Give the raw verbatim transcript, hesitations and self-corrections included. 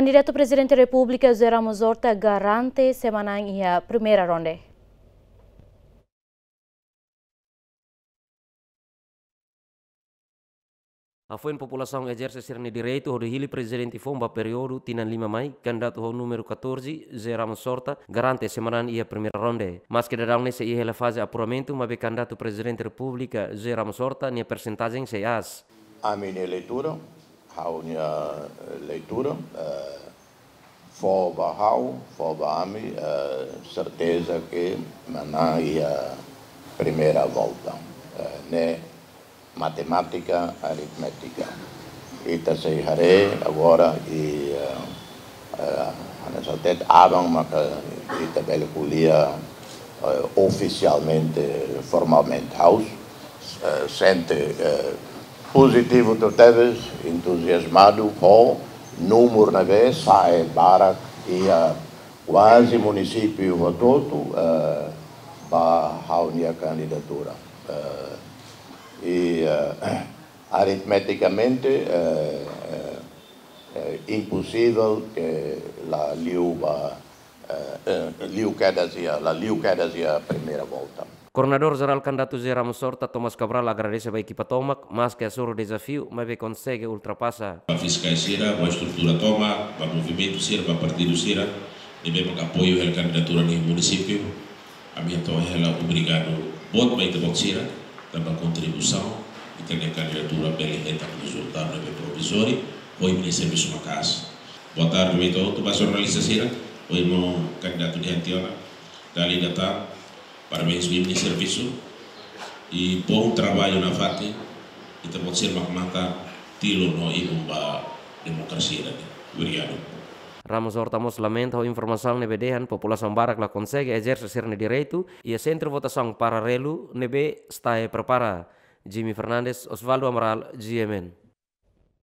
Kandidatu Prezidente Repúblika José Ramos Horta garante sei manán iha primeira ronde. Hafoin populasaun ezerse sira-nia direitu hodi hili prezidente foun ba períodu tinan lima mai, kandidatu ho númeru catorze, José Ramos Horta, garante sei manán iha primeira ronde. Maske daudaun ne'e sei iha hela faze apuramentu, maibé kandidatu Prezidente Repúblika José Ramos Horta nia persentajen sei aas. Ami-nia leitura, ha'u-nia leitura, eh, fó ba ha'u, fó ba ami, eh, serteza ke manán iha primeira volta. Eh, ne'e matemátika, aritmétika. Ita sei haree agora i, eh, eh, hanesan hatete aban maka ita bele ko'alia, eh, ofisialmente, formalmente. Ha'u, eh, sente, eh, pozitivu tebes, entuziazmadu ho númeru ne'ebé sa'e barak iha kuaze munisípiu hotu-hotu, eh, ba ha'u-nia kandidatura. Eh, i, eh, aritmetikamente, eh, eh, eh, imposivel ke la liu ba, eh, eh, liu kedas iha, la liu kedas iha primeira volta. Koordenadór Jerál kandidatu José Ramos Horta, Thomas Cabral, agradese ba ekipa tomak, maske hasoru dezafiu, maibé konsege ultrapasa. Ba fiskais sira, ba estrutura tomak, ba movimentu sira, ba partidu sira ne'ebé mak apoiu hela kandidatura nia munisípiu, ami hato'o hela obrigadu boot ba ita-boot sira, tanba kontribuisaun ita-nia kandidatura bele hetan rezultadu ne'ebé provizóriu, ho imi-nia servisu maka'as. Boa tarde ba ita hotu, ba jornalista sira, ho imi kandidatu di'ak tiha ona, dala ida tan, parabéns ba imi-nia servisu, i bom trabalho nafatin, ita-boot sira mak matan tilun no ibun ba demokrasia ida-ne'e. Obrigadu. Ramos Horta mós lamenta ho informasaun ne'ebé dehan populasaun barak la konsege ezerse sira-nia direitu iha sentru votasaun paralelu ne'ebé STAE prepara. Jimmy Fernandes, Osvaldo Amaral, G M N.